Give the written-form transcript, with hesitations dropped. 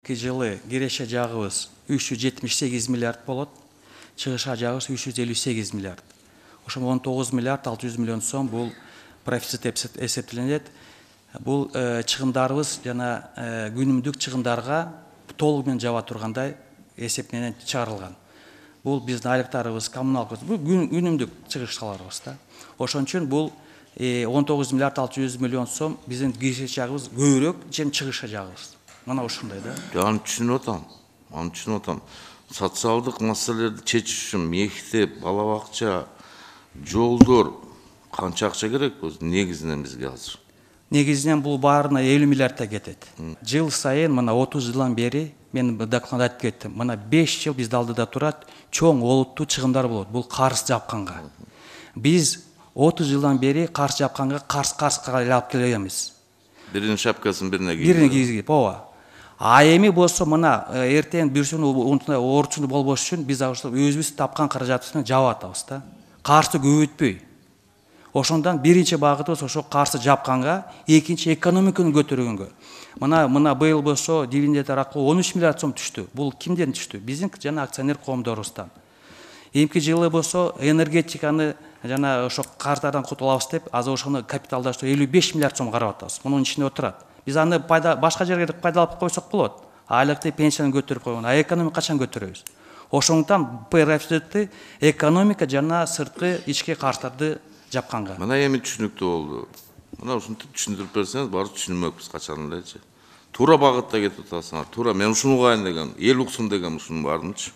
Жылы киреше жагыбыз 378 миллиард болот, чыгыша жагыбыз 358 миллиард. Ошо 19 миллиард 600 миллион сом бул профицит эсептелинет. Бул чыгымдарыбыз жана күнүмдүк чыгымдарга толугу менен жаба тургандай эсептенен чыгарылган. Бул биздин айлыктарыбыз, коммуналкыбыз, бул күнүмдүк чыгыштарыбыз да. Ошон үчүн бул 19 миллиард 600 миллион сом биздин киреше жагыбыз көбүрөөк, чем чыгыша жагыбыз. Мына ушундай да. Аны түшүнүп атам. Социалдык маселелерди чечиш үчүн мектеп, бала бакча, жолдор канча акча керек негизинен бизге азыр? Негизинен бул баарына 50 миллиардтай кетет. Жыл сайын мына 30 жылдан бери мен докладда айтып кеттим. Мына 5 жыл бизде алдыда турат, чоң олуттуу чыгымдар болот. Бул карыз жапканга. Биз 30 жылдан бери карыз жапканга карызга эле алып келебиз. Биринин шапкасын бирине кийип. Бирине кийгип, ооба. А эми болсо мына эртең бүрсүнү орчуну болбош үчүн биз өзүбүз тапкан каражатыбыз менен жаап атабыз да. Карызды көбөйтпөй. Ошондон биринчи багытыбыз ошо карызды жапканга, экинчи экономиканы көтөргөнгө. Мына быйыл болсо дивидендтер аркылуу 13 миллиард сом түштү. Бул кимден түштү? Биздин жана акционер коомдорубуздан. Эмки жылы болсо энергетиканы жана ошо карыздардан кутулабыз деп, азыр ошону капиталдаштыруу 55 миллиард сом карап атабыз. Мунун ичинде отурат. Биз аны башка жерге пайдалап койсок болот. Айлыкты, пенсияны көтөрүп койгон. А экономика качан көтөрөбүз? Ошондуктан профицитти экономика жана сырткы ички карыздарды жапканга. Мына эми түшүнүктүү болду. Мына ушинтип түшүндүрүп берсеңиз баары түшүнмөкпүз качан элечи. Туура багытта кетип атасыңар. Туура мен ушуну угайын дегем, эл уксун дегем ушунун баарынчы.